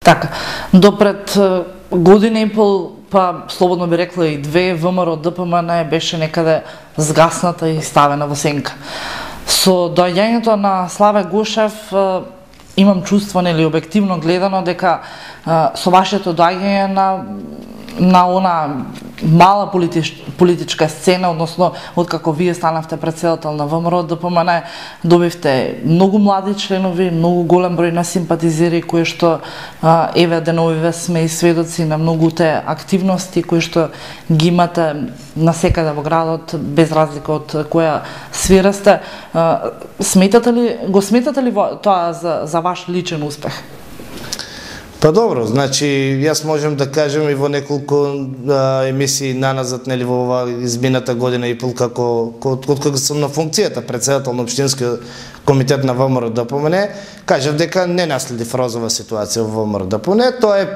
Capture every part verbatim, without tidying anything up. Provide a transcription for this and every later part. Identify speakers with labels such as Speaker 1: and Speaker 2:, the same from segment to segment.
Speaker 1: Така, допред година и пол, па слободно би рекла и две, ВМРО Д П М Н беше некаде згасната и ставена во сенка. Со доаѓањето на Славе Гушев имам чувство, нели објективно гледано, дека со вашето доаѓање на на она мала политич, политичка сцена, односно откако вие станавте претседател на ВМРО Д П М Н, добивте многу млади членови, многу голем број на симпатизери кои што а, еве деновиве сме и сведоци на многуте активности кои што ги имате насекаде во градот, без разлика од која сфера сте. А, сметате ли, го сметате ли тоа за, за ваш личен успех?
Speaker 2: Па добро, значи јас можем да кажем и во неколку а, емисии наназад, нели во ова измината година и пол како откако сум на функцијата претседател на општинскиот комитет на ВМРО Д П М Н, кажав дека не наследив розова ситуација во ВМРО Д П М Н, тоа е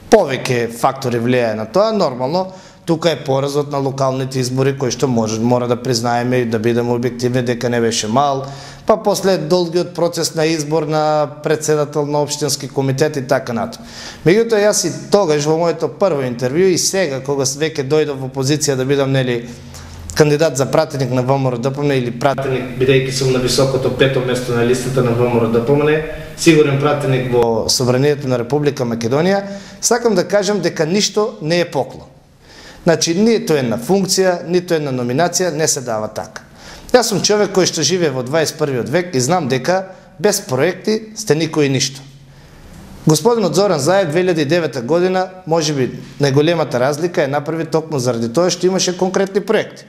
Speaker 2: повеќе фактори влијае на тоа, нормално. Тука е поразот на локалните избори кои што може мора да признаеме и да бидеме објективни дека не беше мал, па после долгиот процес на избор на претседател на општински комитет и така натаму. Меѓутоа јас и тогаш во моето прво интервју и сега кога веќе дојдов во позиција да бидам нели кандидат за пратеник на ВМРО Д П М Н или пратеник бидејќи сум на високото пето место на листата на ВМРО Д П М Н, сигурен пратеник во Собранието на Република Македонија, сакам да кажам дека ништо не е поклон. Значи, нито една функција, нито една номинација не се дава така. Јас сум човек кој што живее во дваесет и првиот век и знам дека без проекти сте никој и ништо. Господинот Зоран Заев две илјади и девета година, можеби најголемата разлика е направи токму заради тоа што имаше конкретни проекти.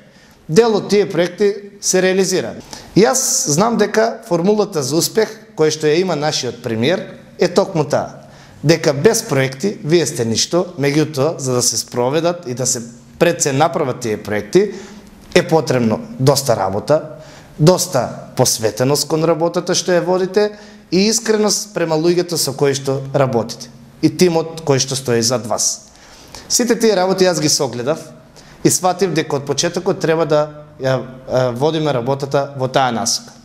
Speaker 2: Дел од тие проекти се реализира. Јас знам дека формулата за успех, која што ја има нашиот премиер, е токму таа. Дека без проекти вие сте ништо, меѓутоа за да се спроведат и да се пред се направат тие проекти е потребно доста работа, доста посветеност кон работата што ја водите и искреност према луѓето со кои што работите и тимот кој што стои зад вас. Сите тие работи јас ги согледав и сватив дека од почетокот треба да ја водиме работата во таа насока.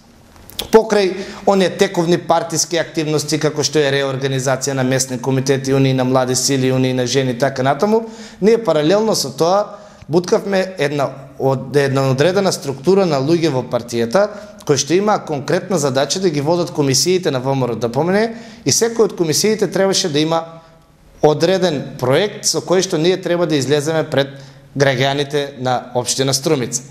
Speaker 2: Покрај оние тековни партиски активности како што е реорганизација на местни комитети, унии на млади сили, унии на жени така натаму, ние паралелно со тоа буткавме една од една одредена структура на луѓе во партијата кои што имаа конкретна задача да ги водат комисиите на ВМРО Д П М Н и секој од комисиите требаше да има одреден проект со кој што ние треба да излеземе пред граѓаните на општина Струмица.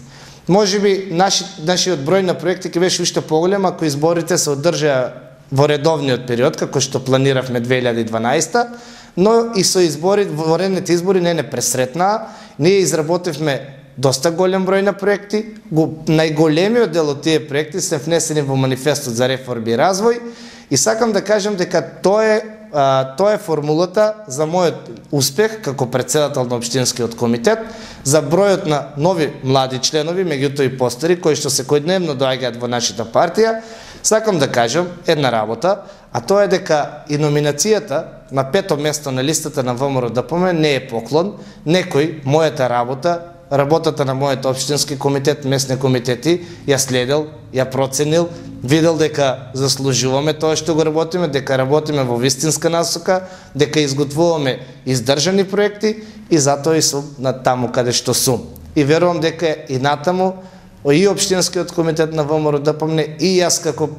Speaker 2: Можеби наши, нашиот број на проекти ќе беше уште поголем ако изборите се одржаа во редовниот период, како што планиравме две илјади и дванаесета, но и со избори, во редните избори не не пресретнаа. Ние изработивме доста голем број на проекти, го, најголемиот дел од тие проекти се внесени во манифестот за реформи и развој и сакам да кажам дека тоа е А, тоа е формулата за мојот успех како претседател на општинскиот комитет, за бројот на нови млади членови, меѓутоа и постари, кои што секојдневно доаѓаат во нашата партија. Сакам да кажам една работа, а тоа е дека и номинацијата на пето место на листата на ВМРО Д П М Н не е поклон. Некој мојата работа, работата на мојот општински комитет, местни комитети, ја следел, ја проценил, видел дека заслужуваме тоа што го работиме, дека работиме во вистинска насока, дека изготвуваме издржани проекти и затоа и сум на таму каде што сум. И верувам дека и натаму и општинскиот комитет на ВМРО Д П М Н и јас како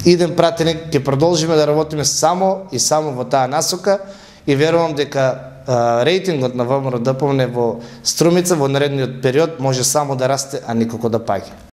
Speaker 2: иден пратеник ќе продолжиме да работиме само и само во таа насока и верувам дека рейтингот на ВМРО Д П М Н во Струмица во наредниот период може само да расте, а никако да паѓа.